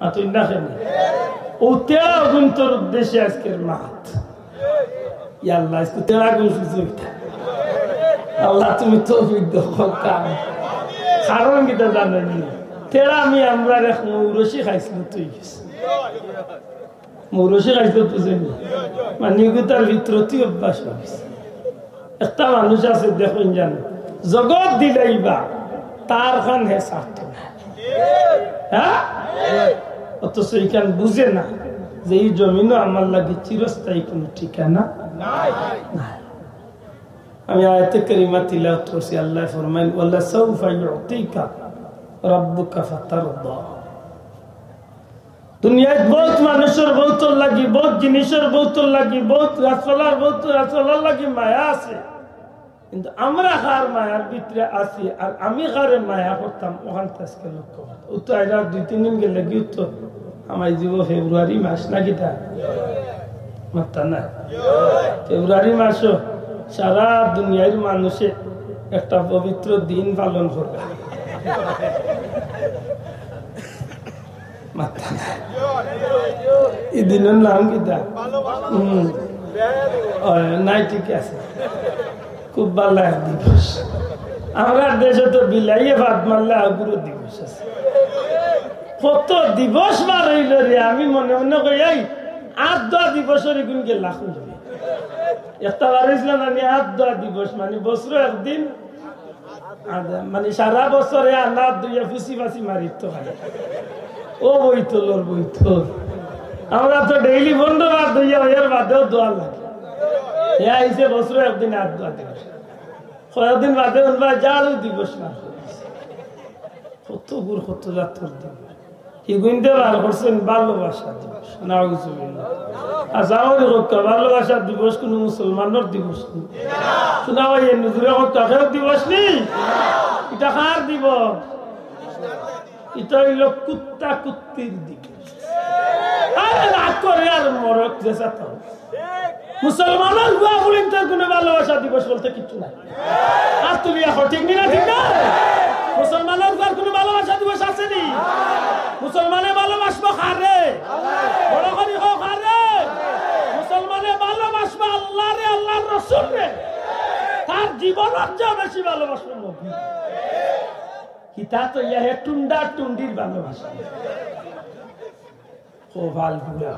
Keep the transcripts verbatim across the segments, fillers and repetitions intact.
মাতইন না কেনে? অউ তেরা গুন্তর উদ্দেশ্যে আইজকের মাত। ইয়া আল্লাহ, আইজকে তেরা গুন সুযোগ। আল্লাহ, তুমি তৌফিক দেও, কাম। কারণ কিতা জানইন নি? তেরা আমি আমরার এক মৌরসি খাইছিল, তুই গেছে। মৌরসি খাইছিল, তুই জানি। মানে, ইগুতার ভিতরতি অভ্যাস অইছে। একটা মানুষ আছে, দেখইন জানো, জগত দিলাইবা, তার খান হে ছাড়তো না। হ্যাঁ? অথচ ইখান বুঝে না যে ই জমিনও আমার লাগি চিরস্থায়ী কোনো ঠিকানা নাই। আমি আয়াতে কারিমা তিলাওয়াত করছি, আল্লাহ ফরমাইন, "ওয়ালা সাউফা ইউতিকা রাব্বুকা ফাতারদা।" দুনিয়াত বউত মানুষর বউতর লাগি, বউত জিনিসর বউতর লাগি, বউত গাছপালার বউত গাছপালার লাগি মায়া আছে, কিন্তু আমরা কার মায়ার ভিতরে আছি আর আমি কারে মায়া করতাম, অখান তো আইজকে লক্ষ্য করতাম। ও তো আইরা দুই তিন দিন গেলে গিয়ে তো আমার জীব ফেব্রুয়ারি মাস নাকি তা? মাত্তা না। ফেব্রুয়ারি মাসও সারা দুনিয়ার মানুষে একটা পবিত্র দিন পালন করবা। মাত্তা না। ই দিনর নাম কিতা? হুম। ও, নাই, ঠিক আছে। খুব ভালা এক দিবস। আমরার দেশে তো বিলাইয়ে ভাত মারলে আগুরো দিবস আছে। কত দিবস বার অইলো রে, আমি মনে মনে কই, "এই আত ধোয়া দিবসর ইগুন গেলা কই?" একটা বার অইছিল না নি, আত ধোয়া দিবস, মানে বছরো একদিন আর মানে সারা বছরে আনা ধুইয়া ফুসি ফাসি মারিত তো খালি। ও বইতলর বইতল। আমরা তো ডেইলি বন্ধ আর ধুইয়া এর বাদেও ধোয়া লাগে। হে আইছে বছরো একদিন আত ধোয়া দিবস। কয়েকদিন বাদে উনবা ঝাড়ু দিবস না। কত গুর কত জাতর দিবস। হিগুইন্দে বার করছইন ভালোবাসা দিবস। নাউজুবিল্লাহ। আচ্ছা, আমার কক্কা ভালোবাসা দিবস কোনো মুসলমানর দিবস নি? শোনা ভাই, এ নজরে কক্কা কেউ দিবস নি? ইটা কার দিবস? ইটা অইলো কুত্তা কুত্তির দিবস। আরে রাগ করে আর মরক যে সাথে। মুসলমানর গুয়া বুলিন তার কোনো ভালোবাসা দিবস বলতে কিচ্ছু নাই। আর তুমি এখন ঠিক নি না, ঠিক না? মুসলমানর তার কোনো ভালোবাসা দিবস আছে নি? মুসলমানে ভালোবাসবো কারে? বড় করি হোক কারে? মুসলমানে ভালোবাসবো আল্লাহরে, আল্লাহর রসুলরে। তার জীবনের চেয়ে বেশি ভালোবাসবো নবী। কিতা তো ইয়া হে টুন্ডা টুন্ডির ভালোবাসা। কপাল পুড়া।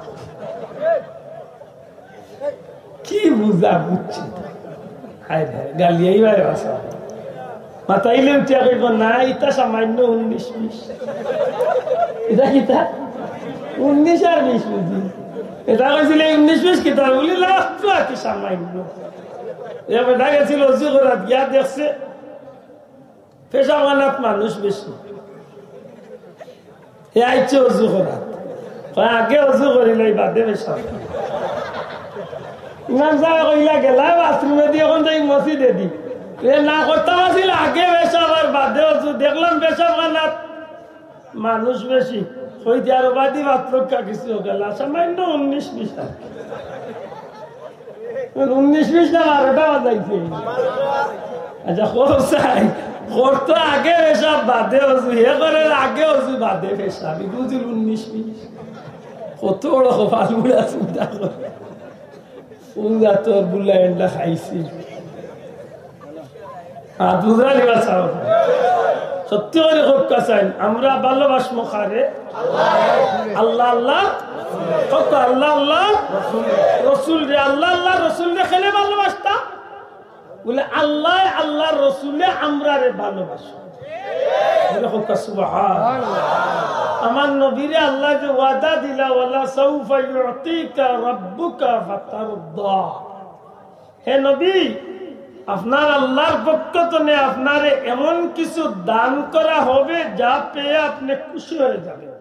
কি বুঝা বুঝছি তো। হায় হায়, গালিয়াই ভাই ভাষা। মাতাইলে উঠিয়া কইব, "না, ইটা সামান্য উনিশ বিশ।" ইটা কিতা? উনিশ আর বিশ বুঝি। ইটা কইছিল, "এই উনিশ বিশ কিতা?" বলি, "না, তো আর কি সামান্য।" এ বেটা গেছিল অজু করাত, গিয়া দেখছে, পেশাবখানাত মানুষ বেশি। হে আইছে অজু করাত। কয়, "আগে অজু করি লই, বাদে পেশাব।" ইমাম সাহেব কইলা, "গেলা বাথরুমে দি, এখন যাই মসজিদে দি।" এ না করতাম আছিল, আগে পেশাব আর বাদে অজু। দেখলাম পেশাবখানাত মানুষ বেশি। কই দি আরো বাদি বাদ লোক কা কিছু গেলা, সামান্য উনিশ বিশ আর কি। উনিশ বিশ না বারোটা বাজাইছে। আচ্ছা, খোর চাই, খোর তো আগে পেশাব বাদে অজু, হে করে আগে অজু বাদে পেশাব, আমি বুঝিল উনিশ বিশ। কত বড় কপাল পুড়া চিন্তা করে। কোন জাতর বুলা এন্ডা খাইছি। আর বুঝা নিবা চাও। সত্যি করে কউক্কা চাইন, আমরা ভালোবাসমু কারে? আল্লাহ, আল্লাহ। কউক্কা আল্লাহ, আল্লাহ। রসুলরে, আল্লাহ, আল্লাহ, রসুলরে কেনে ভালোবাসতাম? বলে, "আল্লাহ, আল্লাহর রসুলে আমরারে ভালোবাসো।" বলে, কউক্কা সুবহান। আমার নবীরে আল্লাহ যে ওয়াদা দিলা, "ওয়ালা সাউফা ইউতিকা রাব্বুকা ফাতারদা।" হে নবী, আপনার আল্লাহর পক্ষ তনে আপনারে এমন কিছু দান করা হবে, যা পেয়ে আপনি খুশি হয়ে যাবেন।